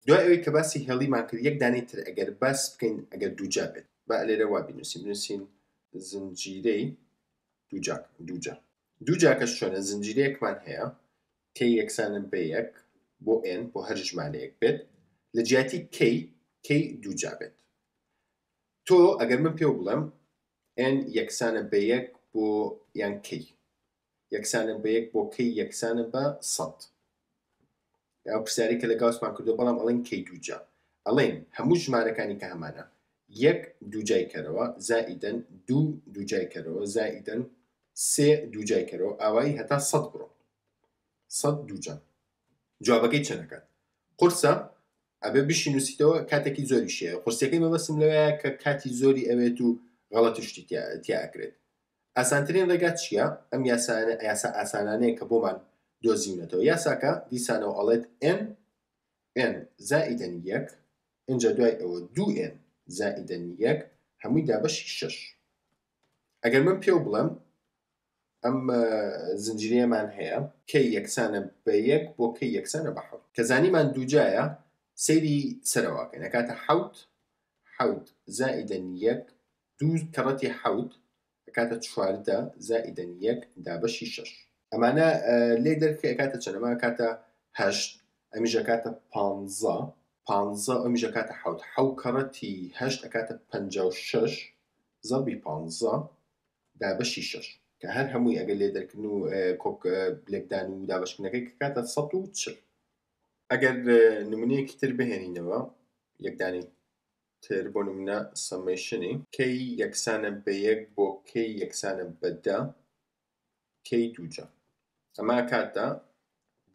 دوای ئەوەی کە باسی هێڵیمان کرد یەک دانەی تر ئەگەر باس بکەین ئەگەر دووجا بێت با لێرە وا بینوسین بنوسین زنجیرەی دووجا دووجا دووجاکەش چۆنە زنجیرەیەکمان هەیە k یەکسانە بە یەک بۆ n بۆ هەر ژمارەیەک بێت لە جیاتی k k دووجا بێت تۆ ئەگەر من پێو بڵێم n یەکسانە بە یەک بۆ یان k یەکسانە بە یەک بۆ k یەکسانە بە سەد ئەو پرسیاری کە لە گاوسمان کردو بەڵام ئەڵێن k دووجا ئەڵێن هەموو ژمارەکانی کە هەمانە یەک دووجای کەرەوە زائیدەن دوو دووجای کەرەوە زائیدەن سێ دووجای کەرەوە ئاوایی هەتا سەد بڕۆ سەد دووجا جوابەکەی چەنەکات قورسە ئەبێ بشی نووسیتەوە کاتێکی زۆریش هەیە قورسیەکەی مەبەستم لەوەیە کە کاتی زۆری ئەوێت و غەڵەتی شتی تیا ئەکرێت ئاسانترین ڕێگا چییە ئەم یاسانە یاسا ئاسانانەیە کە بۆمان دۆزیونەتەوە یاساکە دیسانەوە ئەڵێت n n زائیدەن یەک ئینجا دوای ئەوە دوو n زائیدەن یەک هەمووی دابەشی شەش ئەگەر من پێو بڵێم ئەم زنجیرەیەمان هەیە k یەکسانە بە یەک بۆ k یەکسانە بە حەوت کە زانیمان دووجایە سەیری سەرەوەکەین ئەکاتە حەوت حەوت زائیدەن یەک دوو کەڕەتی حەوت ئەکاتە 14 زائیدەن یەک دابەشی شەش ئەمانە لێ دەرکە ئەکاتە چەند ئەمە ئەکاتە هەشت ئەمیش ئەکاتە پانزە پانزە ئەمیش ئەکاتە حەوت حەو کەڕەتی هەشت ئەکاتە 56 زەربی پانزە دابەشی شەش کە هەر هەمووی ئەگەر لێ دەرکردن و کۆک لێکدان و دابەشکردنەکەی کە کاتە 140 ئەگەر نمونەیەکی تر بهێنینەوە یەکدانی تر بۆ نمونە summation ی k یەکسانە بە یەک بۆ k یەکسانە بە دە k دووجا ئەمە کاتە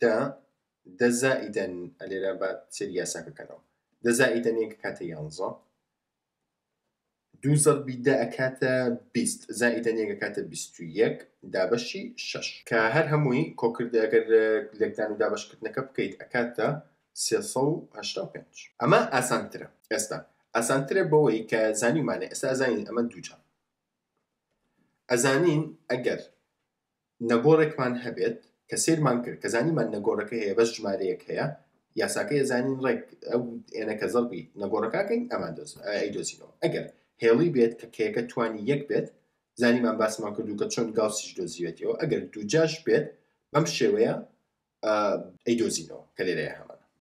دە دە زائیدەن ئەلێرە بە سەری یاساکە کەنەوە دە زائیدەن یەک کاتە یانزە دوو زەربی دە ئەکاتە 20 زائیدەن یەک ئەکاتە 21 دابەشی شەش کە هەر هەمووی کۆکردە ئەگەر لێکدان و دابەشکردنەکە بکەیت ئەکاتە 385 ئەمە ئاسانترە ئێستا ئاسانترە بەوەی کە زانیمانە ئێستا ئەزانین ئەمە دووجا ئەزانین ئەگەر نەگۆڕێکمان هەبێت کە سەیرمان کرد کە زانیمان نەگۆڕەکە هەیە بەس ژمارەیەک هەیە یاساکەی ئەزانین ڕێک ئەو n ە کە زەربی نەگۆڕەکە کەین ئەمان ئەیدۆزینەوە ئەگەر هێڵی بێت کە k ەکە توانی یەک بێت زانیمان باسمان کردو کە چۆن گاوسیش دۆزیوێتیەوە ئەگەر دووجاش بێت بەم شێوەیە ئەیدۆزینەوە کە لێرەیە هەمان.